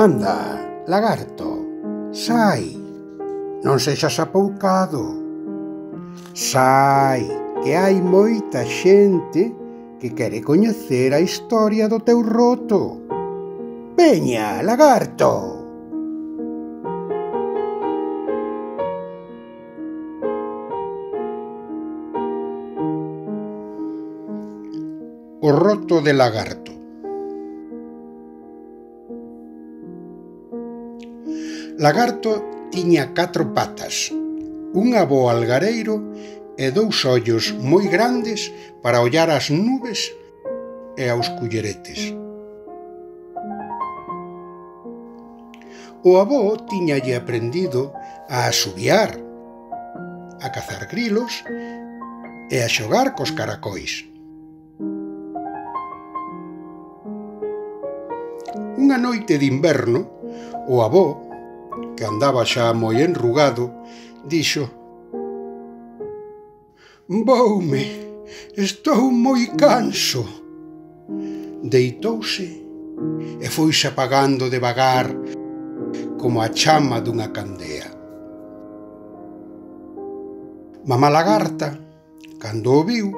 Anda, lagarto, sai, non sexas apoucado. Sai, que hai moita xente que quere coñecer a historia do teu roto. Veña, lagarto! O roto de lagarto. Lagarto tiña 4 patas, un abo algareiro e 2 ollos moi grandes para ollar as nubes e aos culleretes. O abo tiñalle aprendido a asubiar, a cazar grilos e a xogar cos caracois. Unha noite de inverno, o abo, que andaba xa moi enrugado, dixo: «Voume, estou moi canso». Deitouse e foise apagando devagar como a chama dunha candea. Mamá lagarta, cando o viu,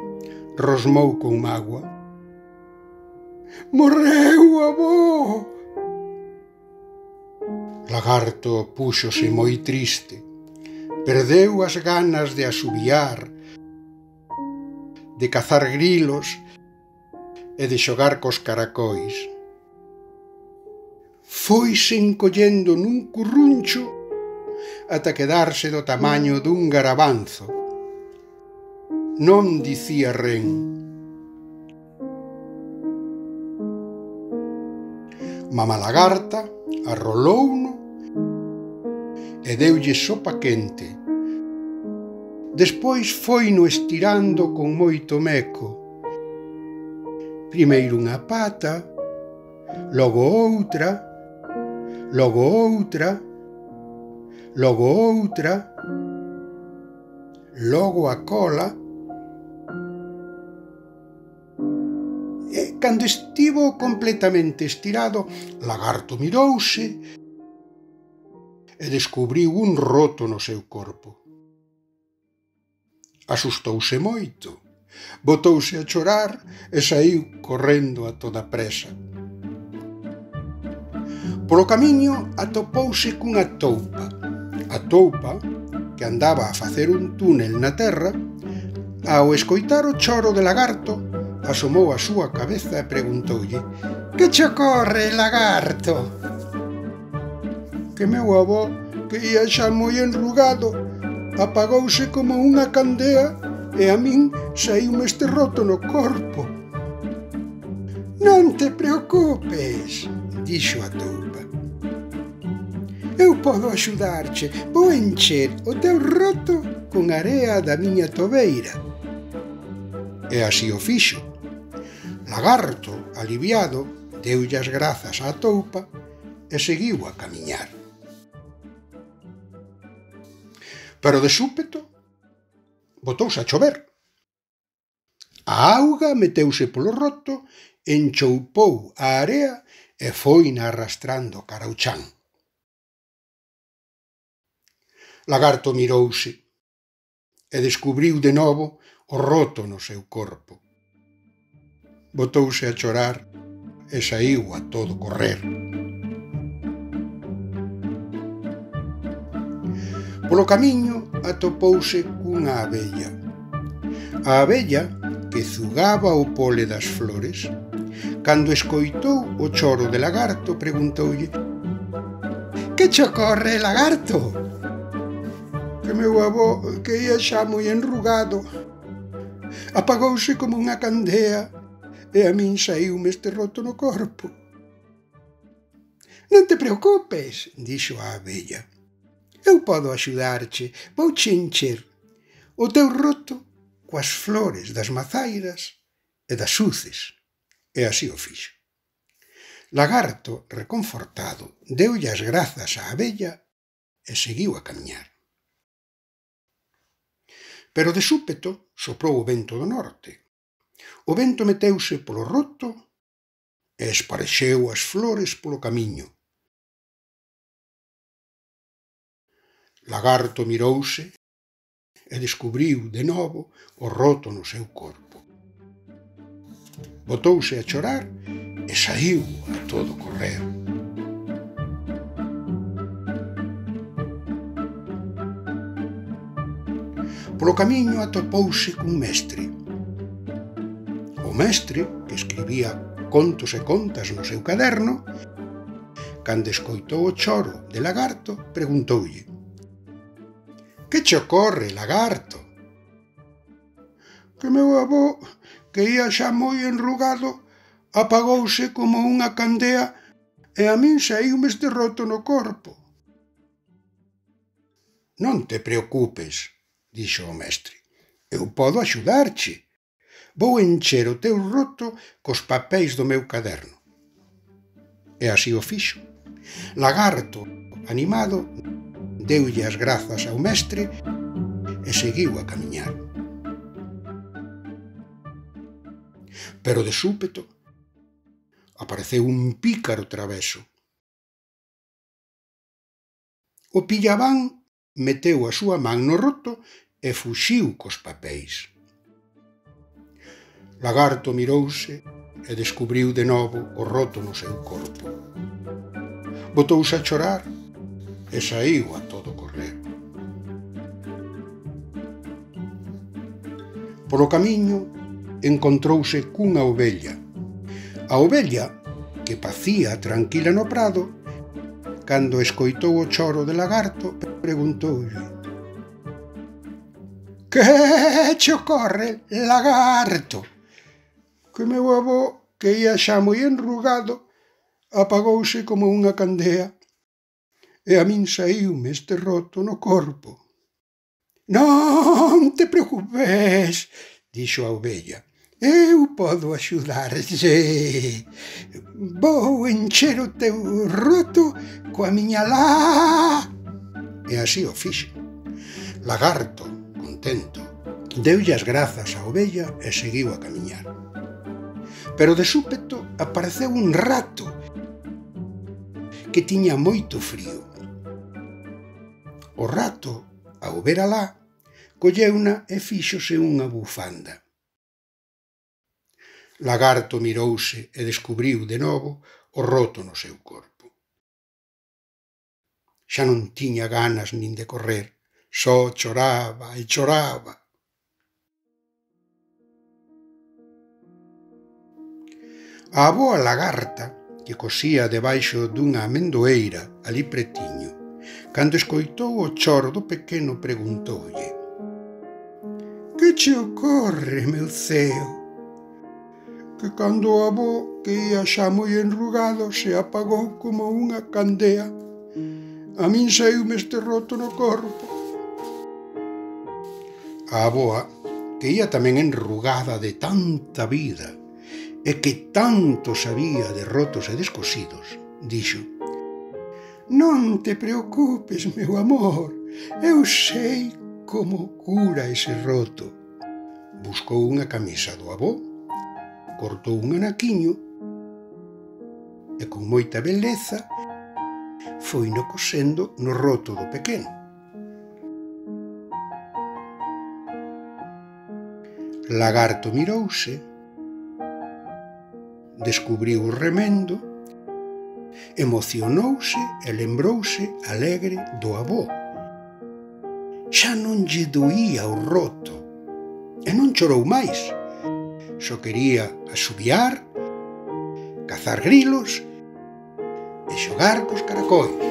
rosmou con mágoa: «Morreu, avó!» Lagarto púxose moi triste, perdeu as ganas de asubiar, de cazar grilos e de xogar cos caracois. Foise encollendo nun curruncho ata quedarse do tamaño dun garabanzo. Non dicía ren. Mamá lagarta arrolouno e deulle sopa quente. Despois foino estirando con moito meco. Primeiro unha pata, logo outra, logo outra, logo outra, logo a cola. E cando estivo completamente estirado, lagarto mirouse e descubriu un roto no seu corpo. Asustouse moito, botouse a chorar e saíu correndo a toda presa. Polo camiño atopouse cunha toupa. A toupa, que andaba a facer un túnel na terra, ao escoitar o choro de lagarto, asomou a súa cabeza e preguntoulle: «Que che ocorre, lagarto?» «Que meu avó, que ia xa moi enrugado, apagouse como unha candea e a min saíume este roto no corpo». «Non te preocupes», dixo a toupa. «Eu podo axudarche, vou encher o teu roto con area da miña tobeira». E así o fixo. Lagarto, aliviado, deulle as grazas á toupa e seguiu a camiñar. Pero de súpeto botouse a chover. A auga meteuse polo roto, enchoupou a area e foina arrastrando cara ao chan. Lagarto mirouse e descubriu de novo o roto no seu corpo. Botouse a chorar e saíu a todo correr. Polo camiño atopouse cunha abella. A abella, que zugaba o pole das flores, cando escoitou o choro de lagarto, preguntoulle: «Que che ocorre, lagarto?» «Que meu avó, que ia xa moi enrugado, apagouse como unha candea e a min saíume este roto no corpo». «Non te preocupes», dixo a abella. «Eu podo axudarche, vouche encher o teu roto coas flores das mazairas e das suces». E así o fixo. Lagarto, reconfortado, deulle as grazas á abella e seguiu a camiñar. Pero de súpeto soprou o vento do norte. O vento meteuse polo roto e esparexeu as flores polo camiño. Lagarto mirouse e descubriu de novo o roto no seu corpo. Botouse a chorar e saíu a todo correr. Polo camiño atopouse cun mestre. O mestre, que escribía contos e contas no seu caderno, cando escoitou o choro de Lagarto, preguntoulle: «Que che ocorre, Lagarto?» «Que meu avó, que ía xa moi enrugado, apagouse como unha candea e a min saíume este roto no corpo». «Non te preocupes», dixo o mestre, «eu podo axudarche. Vou encher o teu roto cos papéis do meu caderno». E así o fixo. Lagarto, animado, deulle as grazas ao mestre e seguiu a camiñar. Pero de súpeto apareceu un pícaro traveso. O pillabán meteu a súa man no roto e fuxiu cos papéis. Lagarto mirouse e descubriu de novo o roto no seu corpo. Botouse a chorar e saíu a todo correr. Polo camiño encontrouse cunha ovella. A ovella, que pacía tranquila no prado, cando escoitou o choro de Lagarto, preguntoulle: «Que che ocorre, Lagarto?» «Que meu avó, que ía xa moi enrugado, apagouse como unha candea e a min saíume este roto no corpo». «Non te preocupes», dixo a ovella, «eu podo axudarche. Vou encher o teu roto coa miña lá». E así o fixo. Lagarto, contento, deulle as grazas á ovella e seguiu a camiñar. Pero de súpeto apareceu un rato que tiña moito frío. O rato, ao ver alá, colleuna e fíxose unha bufanda. Lagarto mirouse e descubriu de novo o roto no seu corpo. Xa non tiña ganas nin de correr, só choraba e choraba. A avoa lagarta, que cosía debaixo dunha amendoeira ali pretiño, cando escoitou o choro do pequeno, preguntoulle: «Que che ocorre, meu ceo?» «Que cando o avó, que ía xa moi enrugado, se apagou como unha candea, a min saíume este roto no corpo». A avoa, que ía tamén enrugada de tanta vida e que tanto sabía de rotos e descosidos, dixo: «Non te preocupes, meu amor, eu sei como cura ese roto». Buscou unha camisa do avó, cortou un anaquiño e con moita beleza foino cosendo no roto do pequeno. Lagarto mirouse, descubriu o remendo, emocionouse e lembrouse alegre do avó. Xa non lle doía o roto e non chorou máis. Só quería asubiar, cazar grilos e xogar cos caracois.